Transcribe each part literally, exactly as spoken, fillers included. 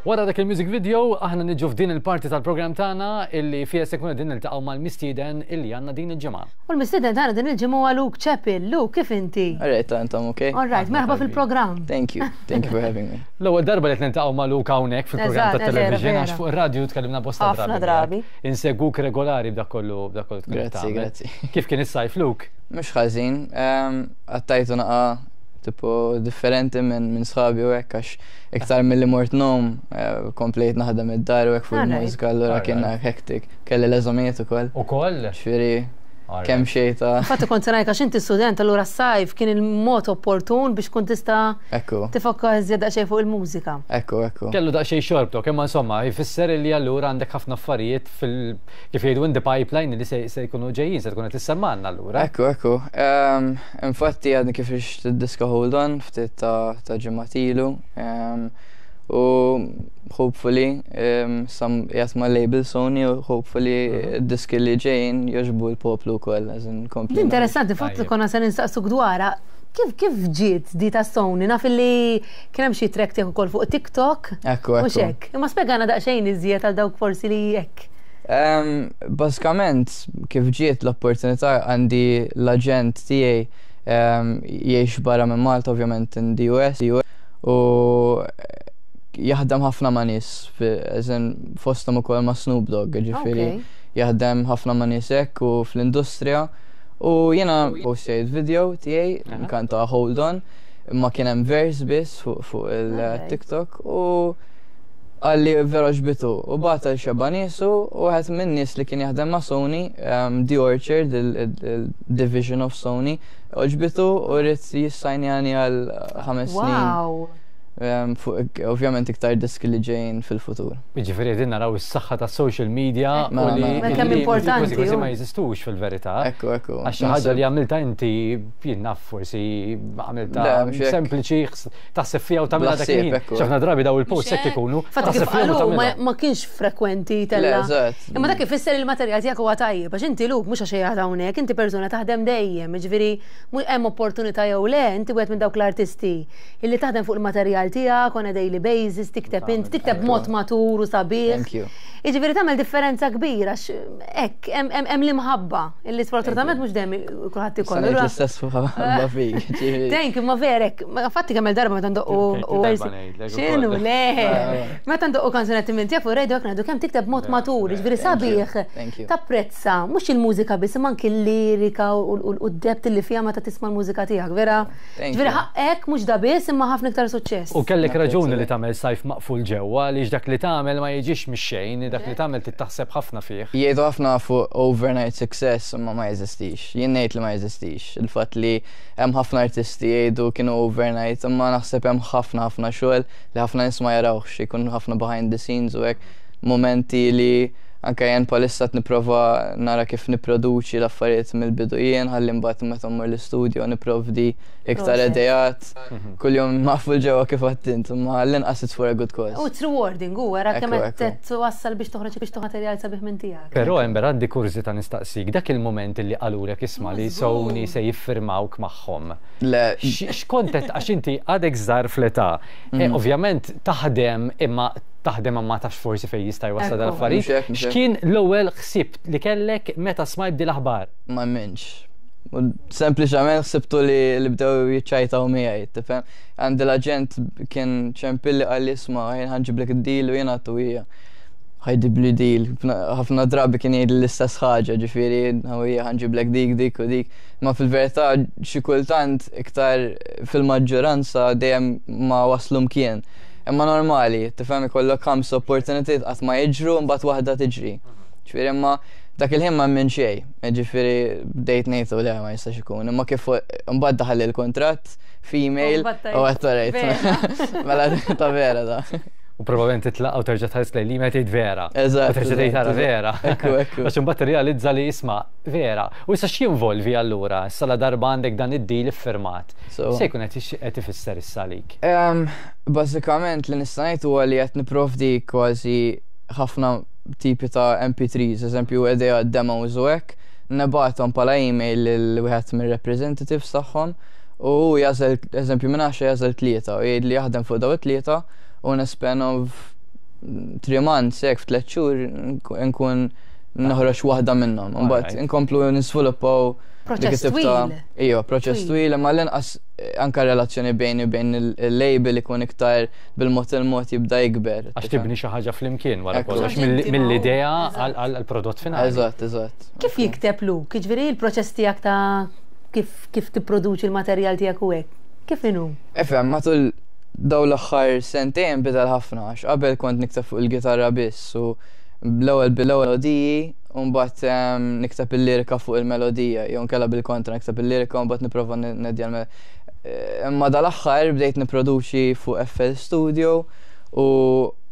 Wara dak il-music video, aħna niġu f'din il-parti tal-programm tagħna illi fiha se nkunu qegħdin niltaqgħu mal-mistieden illi għandna din il-ġimgħa. U l-mistieden tagħna din il-ġimgħa huwa Luke Chappell. Luke, kif inti? Alright, intom okay? All right, merħba fil-programm. Thank you. Thank you for having me. L-ewwel darba li qed niltaqgħu ma' Luke hawnhekk fil-programm Eżatt, tat-television vera, għax fuq ir-radju tkellimna bosta Ħafna drabi. Insegwuk regolari b'dak kollu b'dak kollu tkun Grazzi, tagħmel. grazzi. Kif kien is-sajf, Luke? Mhux ħażin, um, għaddejtu naqa tipo differenti minn min sħabi u hekk għax iktar milli mort ngħum, eh, komplejt naħdem id-dar u hekk fuq Alright. il-mużika, allura kien Alright. hectic. Kelli l-eżamijiet ukoll. Ukoll? Ġifieri Alright. kemm xejn ta' Infatti kont se ngħid għax inti student, allura s-sajf kien il-mod opportun biex kont tista' Ekku, tifokka iżjed daqsxejn fuq il-mużika. ekku, ekku. Kellu daqsxejn xorbtok, imma insomma, jfisser li allura għandek ħafna affarijiet fil kif jgħidu in the pipeline li se se jkunu ġejjin, se tkun qed tissemmanna allura. Ekku, ekku. Um, infatti għadni kif ħriġt id-diska "Hold On" ftit ta' ta' ġimgħat ilu. Um, u hopefully um, sam jgħat ma' label Sony u hopefully id-diski li ġejjin jogħġbu l-poplu wkoll, as in kompli. Interessanti, infatti Tajjeb. konna se nistaqsuk dwarha. Kif kif ġiet di ta' Sony? Naf li kien hemm xi track tiegħek ukoll fuq TikTok. Ekku, Mhux ekku. hekk. Imma spjegana daqsxejn iżjed għal dawk forsi li hekk. Um, Bażikament, kif ġiet l-opportunità, għandi l-agent tiegħi um, jgħix barra minn Malta, ovvjament in the U S, u jaħdem ħafna ma' nies, fi- as in fosthom ukoll ma' Snoop Dogg, ġifieri Okay. jaħdem ħafna ma' nies hekk u fl-industrija. U jiena postjajt video tiegħi Aha. nkanta "Hold On", imma kien hemm verse biss fuq fuq Alright. il-TikTok u qalli vera għoġbitu u bagħat lil xebgħa niesu u wieħed minn nies li kien jaħdem ma' Sony, um, The Orchard, il-division of Sony, għoġbitu u ried jissajnjani għal ħames snin. Wow. Um, fuq ovvjament iktar diski li ġejjin fil-futur. Jiġifieri qegħdin naraw is-saħħa tas social media u Mela, li mela. Ma kemm li importanti, kważi kważi u. ma jeżistux fil-verità. Ekku, ekku. Għax xi ħaġa li għamilta inti, jien naf, forsi għamilta Le, mhux hekk. sempliċi, ħs- taħseb fiha u tagħmilha dak Bla ħsieb, il-ħin. ekku. Ħafna drabi daw il-post hekk ikunu. Infatti kif taħseb fihom u qalu ma, tagħmilha. ma kienx frekwenti Le, tella. eżatt. Imma dak ifisser il-materjal tiegħek huwa tajjeb, għax inti, Luke, mhux għax qiegħed hawnhekk, inti persuna taħdem dejjem, jiġifieri mhu hemm opportunità jew le, inti wieħed minn dawk l-artisti illi taħdem fuq il-materjal tiegħek on a daily basis, tikteb inti, tikteb mod matur u sabiħ. Thank you. Jiġifieri tagħmel differenza kbira għax hekk hemm hemm hemm l-imħabba illi sfortunatament mhux dejjem kulħadd ikollu. Sa ngħid l-istess fuq ħabba fik, ġifieri. Thank you, ma verek. Ma infatti kemm il-darba meta ndoqqu Ok, darba ngħidlek X'inhu ukoll. le. Meta ndoqqu kanzunetti minn tiegħek fuq radio ngħidu kemm tikteb mod matur, jiġifieri Thank you, sabiħ. thank you. Tapprezza mhux il-mużika biss imma anki l-lirika u u d-depth li fiha meta tisma' l-mużika tiegħek, vera. Thank Ġifieri you. ħaqqek mhux da biss imma ħafna iktar suċċess. U kellek Napprezza raġuni li li. tagħmel sajf maqful ġewwa għaliex dak li tagħmel ma jiġix mix-xejn, dak li tagħmel trid taħseb ħafna fih. Jgħidu ħafna fuq overnight success, imma ma jeżistix. Jien ngħid li ma jeżistix. Il-fatt li hemm ħafna artisti jgħidu kienu overnight, imma naħseb hemm ħafna ħafna xogħol li ħafna nies ma jarawx, ikun ħafna behind the scenes u hekk momenti li anke jien bħalissa qed nipprova nara kif nipproduċi l-affarijiet mill-bidu jien ħalli mbagħad meta mmur l-istudio nipprovdi iktar Proset. ideat. Kuljum maqful ġewwa kif għedt, imma l-inqas it's for a good cause. U it's rewarding, u wara kemm Ekku, qed ekku. twassal biex toħroġ biex toħroġ materjal sabiħ minn tiegħek. Però hemm għandi kurżità nistaqsik, dak il-moment li qalulek isma' li Sony se jiffirmawk magħhom. Le, X- X'kont qed, għax inti għadek żgħar fl-età. Eh, Ovvjament taħdem imma taħdem ma tafx forsi fejn jista' jwassal Ekku. dal-affarijiet. Mhux hekk, mhux hekk. X'kien l-ewwel ħsieb li kellek meta smajt di l-aħbar? Ma minx. U sempliċament ħsibtu li li bdew jiċċajtaw miegħi, tifhem? Għandi l-aġent kien ċempilli, qalli isma' jien ħa nġiblek id-deal u jien għedtlu ija. Ħa jġibli deal. Ħafna drabi kien jgħid l-istess ħaġa, ġifieri ija ħa nġiblek dik, dik u dik. Ma fil-verità xi kultant iktar fil-maġġoranza dejjem ma waslu mkien. Imma normali, tifhem, ikollok ħames opportunitajiet qatt ma jiġru, mbagħad waħda tiġri. Ġifieri imma dak il-ħin ma minn xejn, ġifieri bdejt ngħidu le, ma jistax ikun. Imma kif mbagħad daħal il-kontratt f'email U u għedt rajt. Mela ta' vera da. U probabbilment titlaq u terġa' tħares lejn li tgħid vera. Eżatt, U terġa' tgħid tara eżatt. vera. Ekku, ekku. Għax imbagħad tirrealizza li isma' vera. U issa x'jinvolvi allura? Issa la darba għandek dan id-deal iffirmat. So- Se jkun qed ix- qed ifisser issa għalik? Um, Bażikament li nista' ngħid huwa li qed nipprovdi kważi ħafna tipi ta' M P threes, eżempju idea demos u hekk, nibgħathom bħala email lil wieħed mir-representatives tagħhom u hu jagħżel, eżempju minn għaxra jagħżel tlieta u jgħid li jaħdem fuq daw it-tlieta u in a span of three months, hekk f'tliet xhur nkun noħroġ waħda minnhom. Mbagħad Alright. inkomplu nisviluppaw dik Proċess it-tip ta' twil. Iva, proċess Twil. twil, imma l-inqas eh, anka relazzjoni bejni u bejn il- il-label ikun iktar bil-mod il-mod jibda jikber. Għax tibni xi ħaġa flimkien wara Ekku. kollox Għax inti ma- mill-idea Eżatt. għall-prodott finali. Eżatt, eżatt. Kif jikteb Luke? Jiġifieri il-proċess tiegħek ta' kif kif tipproduċi l-materjal tiegħek u hekk? Kif inhu? Ifhem, matul daw l-aħħar sentejn bidel ħafna, għax qabel kont nikteb fuq il-gitarra biss u bl-ewwel bil-ewwel melodiji u mbagħad em, nikteb il-lirika fuq il-melodija, jew nkella bil-kontra nikteb il-lirika u mbagħad nipprova nedja l Imma dal-aħħar bdejt nipproduċi fuq F L Studio u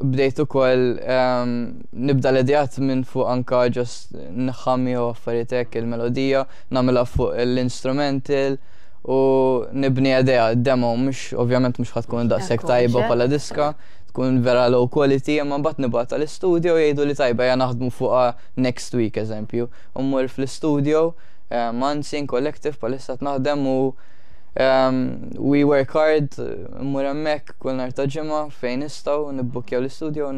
bdejt ukoll em, nibda l-ideat minn fuq anka just nħammi u affarijiet hekk il-melodija, nagħmilha fuq l-instrumental u nibni idea, demo, mhux ovvjament mhux ħa tkun daqshekk Ekku, tajba mhux hekk? bħala diska, tkun vera low quality, imma mbagħad nibgħatha l-istudio jgħidu li tajba, ja naħdmu fuqha next week, eżempju. U mmur fl-istudio, eh, Mansin Collective bħalissa naħdem u um, we work hard, mmur hemmhekk kull nhar ta' ġimgħa fejn nistgħu nibbukjaw l-istudio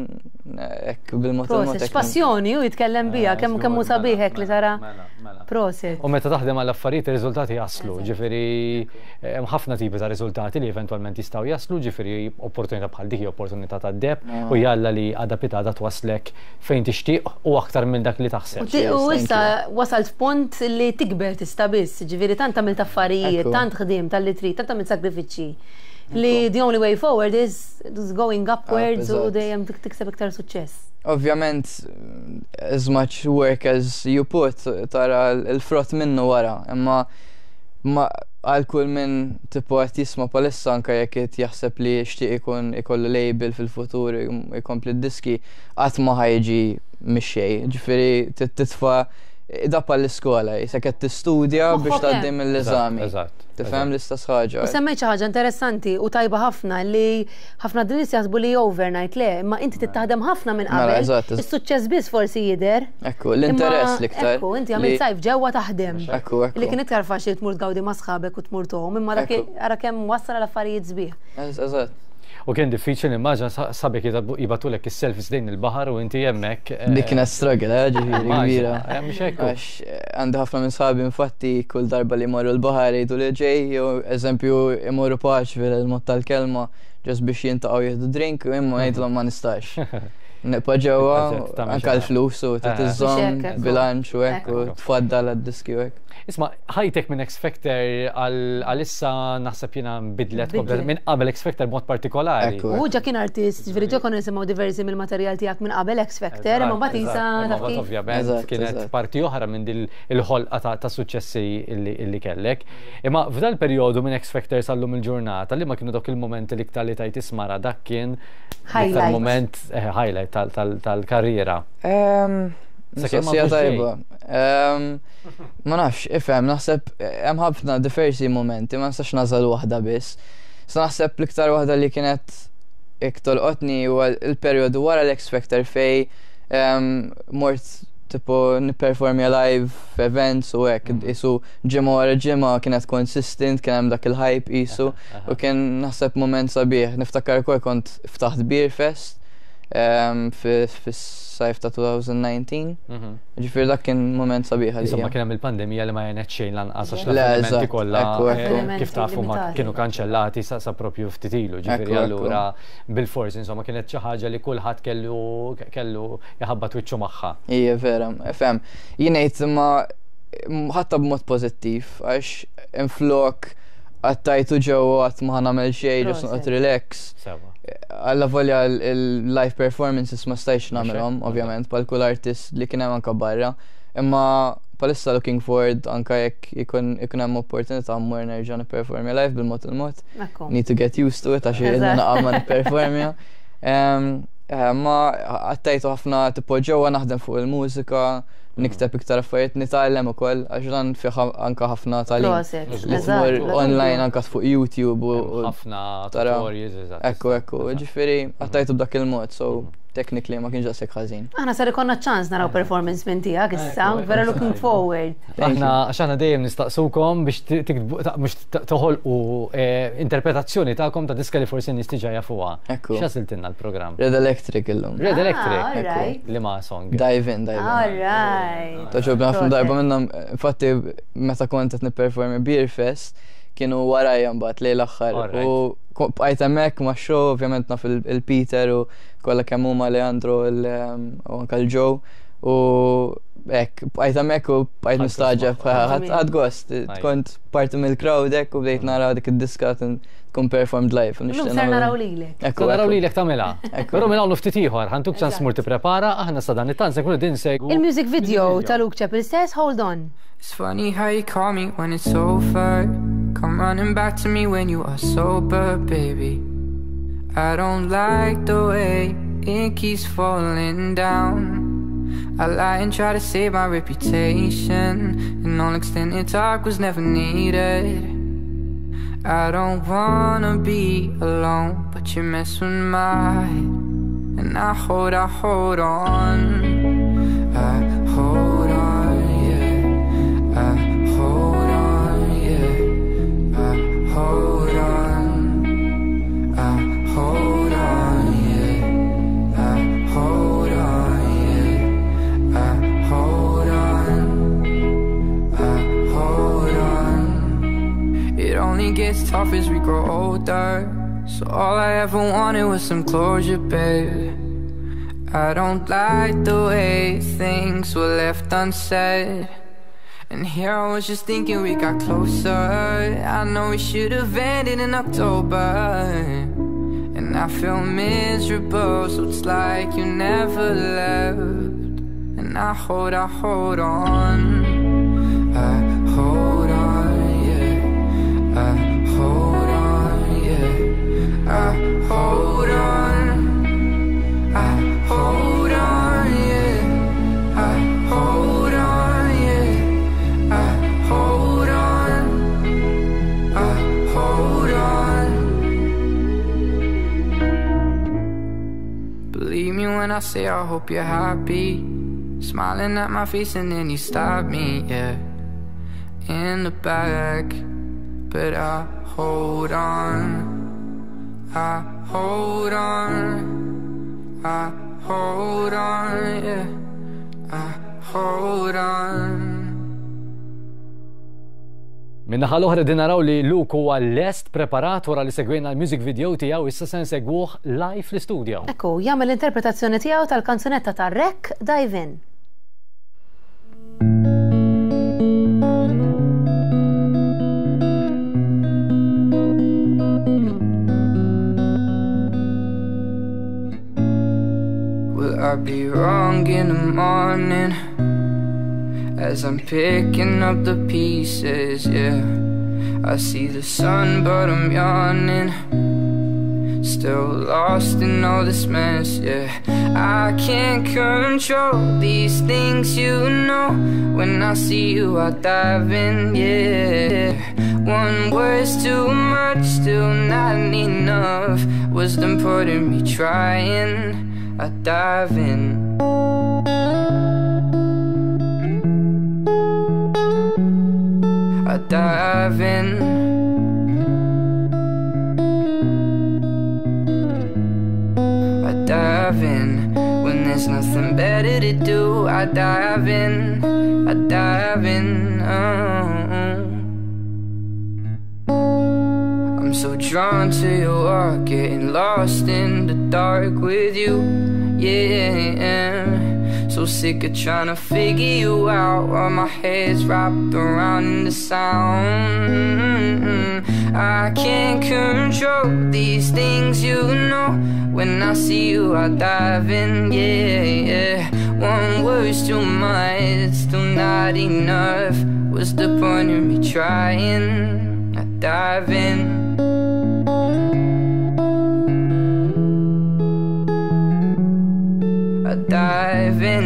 hekk bil-mod il-mod Proset, hekk. x'passjoni u jitkellem bija, kemm kemm hu sabiħ hekk li tara. Mela, mela. Proset. U meta taħdem għall affarijiet ir-riżultati jaslu, ġifieri hemm ħafna tipi ta' riżultati li eventwalment jistgħu jaslu, ġifieri opportunità bħal dik hi opportunità ta' deheb Ah. u jalla li għada pitgħada twaslek fejn tixtieq u aktar minn dak li U taħseb. ti- U Cheers, thank issa wasalt f'punt li tikber tista' biss, ġifieri tant għamilt affarijiet, Ekku. tant ħdim tal-li trid, tant għamilt sagrifiċċji. Li the only way forward is is going upwards u eżatt. dejjem tik- tikseb iktar suċċess. Ovvjament, as much work as you put, tara l-frott minnu wara, imma ma għal kull minn tipo qed jisma' bħalissa, anka jekk qed jaħseb li jixtieq ikun ikollu label fil-futur, ikompli d-diski, qatt ma ħa jiġi mix-xejn. Ġifieri titfa' da l-iskola, jisek qed tistudja biex Moħħok tgħaddi hemm. mill-eżami. Eżatt. Tifhem, l-istess ħaġa. U semmejt xi ħaġa interessanti u tajba ħafna li ħafna din nies jaħsbu li overnight, le, imma inti tittaħdem ħafna minn Mela, qabel. eżatt, eżatt. Is-suċċess biss forsi jidher. Ekku, l-interess Imma, l-iktar. Ekku, inti għamilt li- sajf ġewwa taħdem. Ekku, ekku. Li kien iktar faċli tmur tgawdi ma' sħabek u tmur tgħum, imma dak Ekku. ara kemm wassal għal affarijiet sbieħ. Ez- Eżatt. U kien diffiċli nimmaġina sħabek jibagħtulek is-selfies lejn il-baħar u inti hemmhekk. eh, Dik kienet struggle, eh, ġifieri Immaġina, kbira. eh, mhux hekk. Għax eh, għandi ħafna minn sħabi infatti kull darba li jmorru l-baħar jgħidu li ġej, jew eżempju imorru paċ fil-mod tal-kelma, just biex jiltaqgħu jieħdu drink, u imma ngħidilhom ma nistax. Nibqa' ġewwa, Il-budget tagħmel anka xi l-flus u Eh. tiżżomm Mhux hekk, ekku. bilanċ u hekk u Ekku. tfaddal għad-diski u hekk. Isma', ħajtek minn X Factor għal issa naħseb jiena nbidlet Bidlet. komplet minn qabel X Factor mod partikolari. Ekku. U ġa kien artist, ġifieri ġa konna nisimgħu diversi mill-materjal tiegħek minn qabel X Factor, imma mbagħad isa Eżatt, taf imma kif. ovvjament Eżatt, kienet eżatt. parti oħra minn dil il-ħolqa ta' ta' suċċessi illi illi kellek. Imma f'dal perjodu minn X Factor sal-lum il-ġurnata, li ma kienu dawk il-momenti li iktar li tajt ismara dak kien l-iktar Highlight. moment eh, highlight tal- tal- tal-karriera. Ehm, Sakemm ma Mistoqsija mhux tajba. Ehm, Ma nafx, ifhem, naħseb hemm ħafna diversi momenti, ma nistax nagħżel waħda biss. Sa naħseb l-iktar waħda li kienet iktar qotni huwa il-perjodu wara l-X Factor fej ehm, mort tipo nipperformja live f'events u hekk, isu ġimgħa wara ġimgħa kienet consistent, kien hemm dak il-hype isu u kien naħseb moment sabiħ. Niftakar ukoll kont ftaħt Beer Fest ehm, fi- fis-sajf ta' elfejn u dsatax. Mhm. Ġifieri dak kien moment sabiħ Insomma, għalija. kien hemm il-pandemija li ma għenet xejn lanqas għax Le, l-avvenimenti eżatt, kollha ekku, ekku. eh, kif tafu ma Limitati. kienu kanċellati sa sa propju ftit ilu, ġifieri Ekku, ekku. allura bil-forsi insomma kienet xi ħaġa li kulħadd kellu kellu jaħabbat wiċċu magħha. Ija, vera, fem. Jien ngħid ma ħatta b'mod pożittiv għax inflok għattajtu ġewwa għat ma ħa nagħmel xejn, just Proset. noqgħod relax. Sewa. Alla volja il-live performances ma stajx nagħmelhom, hekk, ovvjament, bħal kull artist li kien hemm anka barra. Imma bħalissa looking forward anka jekk ikun ikun hemm opportunità mmur nerġa' nipperformja live bil-mod il-mod. Ekku. Need to get used to it għax ilna Eżatt. naqa' ma nipperformja. Em, eh, Ma għattajtu ħafna tipo ġewwa naħdem fuq il-mużika, nikteb iktar affarijiet, nitgħallem ukoll għax dan fih anka ħafna tagħlim. Proset. Li Eżatt, tmur bla online dubju. anka fuq YouTube u Hemm u ħafna tara- tutorials, eżatt. Ekku, ekku, eżatt. ġifieri għattajtu b'dak il-mod, so Technically ma kienx daqshekk ħażin. Aħna sar ikollna ċans naraw performance minn tiegħek issa, vera looking forward. Aħna għax aħna dejjem nistaqsukom biex tiktbu, biex toħolqu eh, interpretazzjoni tagħkom ta' diska li forsi nies diġà jafuha. Ekku. X'għażiltilna l-programm? Red Electric illum. Red Electric. Ah, alright. Liema song. Dive in, dive in. Alright. Togħġobni ħafna Proset. darba minnhom, infatti meta kont qed nipperformi Beer Fest, kienu warajja mbagħad lejn l-aħħar. Alright. U ko- bqajt hemmhekk ma' show, ovvjament naf il- il-Peter u kollha kemm huma Leandro il- u anke l-Joe. U hekk, bqajt hemmhekk u bqajt Ħadd mistaġeb, gost magħhom. ħadd ħadd gost. Nice. Kont parti mill-crowd hekk u bdejt nara dik id-diska tkun performed live. u Illum nixtieq ser nagħmel- naraw lilek. Ekku, Se naraw ekku. lilek tagħmilha. Ekku. Però minn hawn ftit ieħor, ħa ntuk ċans Eżatt. mur tipprepara, aħna sa dan it-tant se nkunu din segwu. Il-music video ta' Luke Chappell stess, hold on. It's funny how you call me when it's over. Come running back to me when you are sober, baby. I don't like the way it keeps falling down. I lie and try to save my reputation, and all extended talk was never needed. I don't wanna be alone, but you mess with my head, and I hold, I hold on. I hold on, yeah. I hold on, yeah. I hold on. I hold on, yeah. I hold on, yeah. I hold on. I hold on. It only gets tough as we grow older. So all I ever wanted was some closure, babe. I don't like the way things were left unsaid. And here I was just thinking we got closer. I know we should have ended in October. And I feel miserable, so it's like you never left. And I hold, I hold on. I hold on, yeah. I hold on, yeah. I hold on. I hold on, yeah. I hold on, yeah. I hold on. I hold on. Believe me when I say I hope you're happy. Smiling at my face and then you stop me, yeah. In the back, but I hold on. I hold on. I hold on, yeah. I hold on. Min-naħa l-oħra din naraw li Luke huwa lest preparat wara li segwejna l-music video tiegħu issa se nsegwuh live fl-istudio. Ekku, jagħmel l-interpretazzjoni tiegħu tal-kanzunetta ta' Rek Dive In. Will I be wrong in the morning as I'm picking up the pieces? Yeah, I see the sun, but I'm yawning. Still lost in all this mess, yeah. I can't control these things, you know. When I see you, I dive in, yeah. One word's too much, still not enough. Wisdom putting me trying. I dive in. I dive in. I dive in. When there's nothing better to do, I dive in. I dive in. Oh. I'm so drawn to your walk, getting lost in the dark with you, yeah. So sick of trying to figure you out while my head's wrapped around the sound. I can't control these things, you know. When I see you, I dive in, yeah, yeah. One word's too much, still not enough. What's the point of me trying? I dive in. I dive in.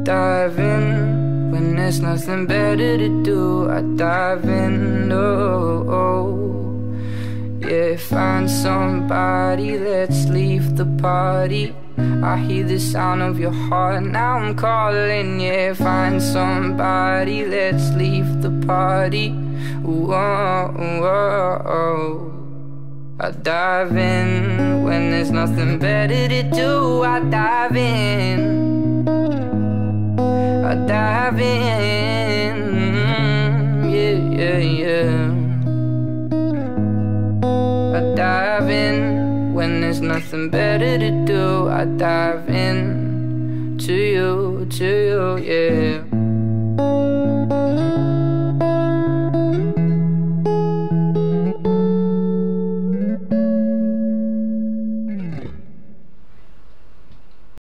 Dive in. When there's nothing better to do. I dive in, oh, oh. Yeah, find somebody, let's leave the party. I hear the sound of your heart, now I'm calling. Yeah, find somebody, let's leave the party. Ooh, oh, oh, oh. I dive in when there's nothing better to do. I dive in, I dive in, yeah, yeah, yeah. I dive in when there's nothing better to do. I dive in to you, to you, yeah.